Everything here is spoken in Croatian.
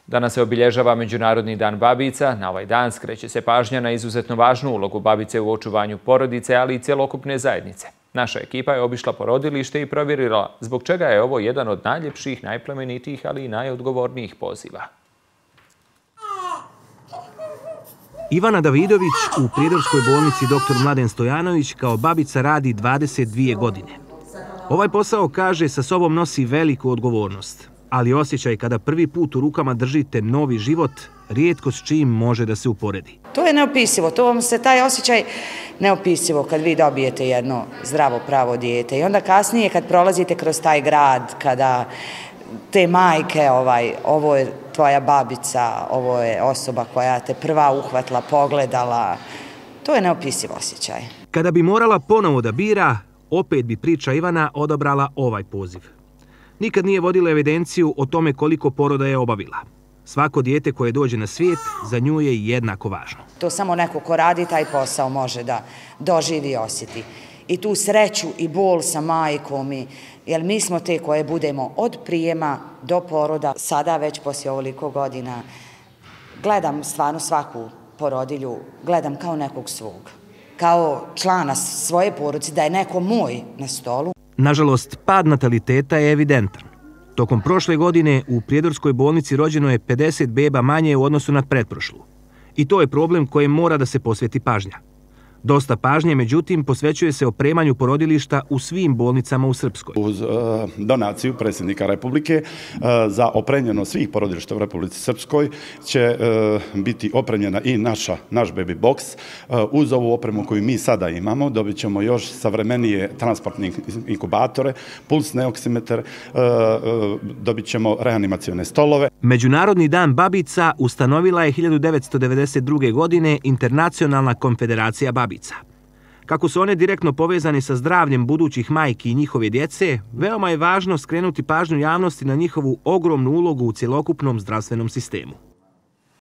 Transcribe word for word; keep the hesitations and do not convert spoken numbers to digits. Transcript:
Danas se obilježava Međunarodni dan babica. Na ovaj dan skreće se pažnja na izuzetno važnu ulogu babice u očuvanju porodice, ali i cjelokupne zajednice. Naša ekipa je obišla porodilište i provjerila zbog čega je ovo jedan od najljepših, najplemenitijih, ali i najodgovornijih poziva. Ivana Davidović u Prijedorskoj bolnici doktor Mladen Stojanović kao babica radi dvadeset dvije godine. Ovaj posao, kaže, sa sobom nosi veliku odgovornost, ali osjećaj kada prvi put u rukama držite novi život, rijetko s čim može da se uporedi. To je neopisivo, to vam se taj osjećaj neopisivo kad vi dobijete jedno zdravo pravo dijete. I onda kasnije kad prolazite kroz taj grad, kada te majke, ovaj, ovo je tvoja babica, ovo je osoba koja te prva uhvatila, pogledala, to je neopisiv osjećaj. Kada bi morala ponovo da bira, opet bi priča Ivana odabrala ovaj poziv. Nikad nije vodila evidenciju o tome koliko poroda je obavila. Svako dijete koje dođe na svijet za nju je jednako važno. To samo neko ko radi taj posao može da doživi i osjeti. I tu sreću i bol sa majkom, jer mi smo te koje budemo od prijema do poroda. Sada već poslije ovoliko godina gledam stvarno svaku porodilju, gledam kao nekog svog. Kao člana svoje porodice, da je neko moj na stolu. Nažalost, pad nataliteta je evidentan. Tokom prošle godine u Prijedorskoj bolnici rođeno je pedeset beba manje u odnosu na pretprošlu. I to je problem kojem mora da se posveti pažnja. Dosta pažnje, međutim, posvećuje se opremanju porodilišta u svim bolnicama u Srpskoj. Uz uh, donaciju predsjednika Republike uh, za opremljeno svih porodilišta u Republici Srpskoj će uh, biti opremljena i naša, naš baby box. Uh, uz ovu opremu koju mi sada imamo dobit ćemo još savremenije transportne inkubatore, pulsne oksimetar, uh, uh, dobit ćemo reanimacione stolove. Međunarodni dan babica ustanovila je hiljadu devetsto devedeset druge. godine Internacionalna konfederacija babica. Kako su one direktno povezane sa zdravljem budućih majki i njihove djece, veoma je važno skrenuti pažnju javnosti na njihovu ogromnu ulogu u cjelokupnom zdravstvenom sistemu.